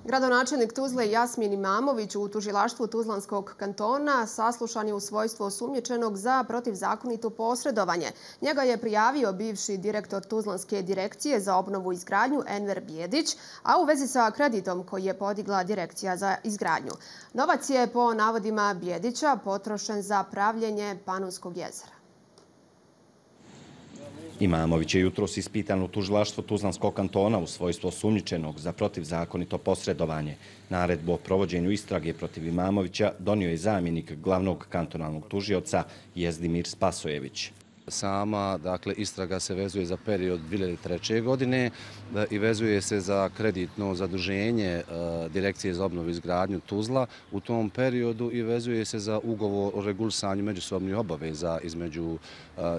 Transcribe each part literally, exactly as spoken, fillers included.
Gradonačelnik Tuzle Jasmin Imamović u tužilaštvu Tuzlanskog kantona saslušan je u svojstvu osumnjičenog za protivzakonito posredovanje. Njega je prijavio bivši direktor Tuzlanske direkcije za obnovu i izgradnju Enver Bijedić, a u vezi sa kreditom koji je podigla Direkcija za izgradnju. Novac je po navodima Bijedića potrošen za pravljenje Panonskog jezera. Imamović je jutros ispitan u tužilaštvu Tuzlanskog kantona u svojstvu osumnjičenog za protivzakonito posredovanje. Naredbu o provođenju istrage protiv Imamovića donio je zamjenik glavnog kantonalnog tužioca Jezdimir Spasojević. Sama dakle, istraga se vezuje za period dvije hiljade treće. godine i vezuje se za kreditno zaduženje Direkcije za obnovu i izgradnju Tuzla u tom periodu i vezuje se za ugovor o regulisanju međusobnih obaveza između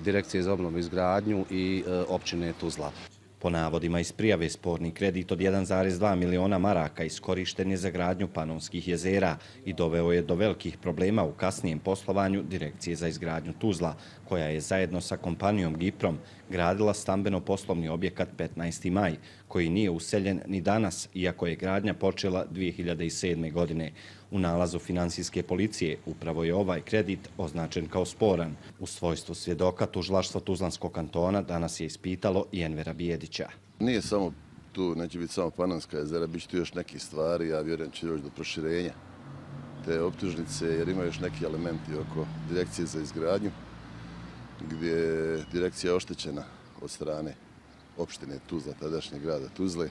Direkcije za obnovu i izgradnju i općine Tuzla. Po navodima iz prijave sporni kredit od jedan zarez dva miliona maraka iskorišten je za gradnju Panonskih jezera i doveo je do velikih problema u kasnijem poslovanju Direkcije za izgradnju Tuzla, koja je zajedno sa kompanijom Giprom gradila stambeno-poslovni objekat petnaesti maj, koji nije useljen ni danas, iako je gradnja počela dvije hiljade sedme. godine. U nalazu finansijske policije upravo je ovaj kredit označen kao sporan. U svojstvu svjedoka tužilaštvo Tuzlanskog kantona danas je ispitalo i Envera Bijedića. Nije samo tu, neće biti samo Panonska jezera, bit će tu još nekih stvari, ja vjerujem će doći do proširenja te optužnice, jer ima još neki elementi oko Direkcije za izgradnju, gdje je direkcija oštećena od strane opštine Tuzla, tadašnjeg grada Tuzle.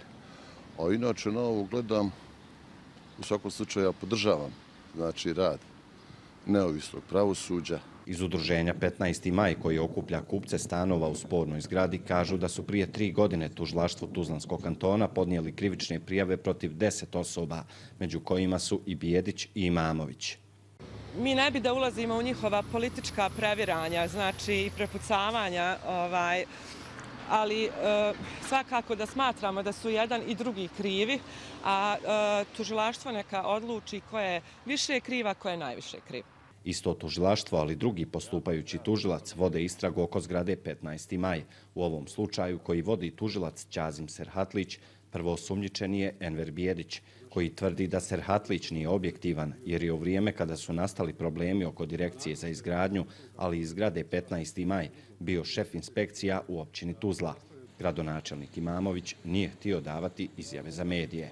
A inače, na ovo gledam, u svakom slučaju ja podržavam znači, rad neovisnog pravosuđa. Iz udruženja petnaesti maj, koji okuplja kupce stanova u spornoj zgradi, kažu da su prije tri godine tužilaštvu Tuzlanskog kantona podnijeli krivične prijave protiv deset osoba, među kojima su i Bijedić i Imamović. Mi ne bi da ulazimo u njihova politička previranja, znači i prepucavanja, ovaj, ali e, svakako da smatramo da su jedan i drugi krivi, a e, tužilaštvo neka odluči ko je više kriva, ko je najviše kriv. Isto tužilaštvo, ali drugi postupajući tužilac vode istragu oko zgrade petnaesti maj. U ovom slučaju koji vodi tužilac Ćazim Serhatlić, prvo osumnjičeni je Enver Bijedić, koji tvrdi da Serhatlić nije objektivan, jer je u vrijeme kada su nastali problemi oko Direkcije za izgradnju, ali i zgrade petnaesti maj, bio šef inspekcija u općini Tuzla. Gradonačelnik Imamović nije htio davati izjave za medije.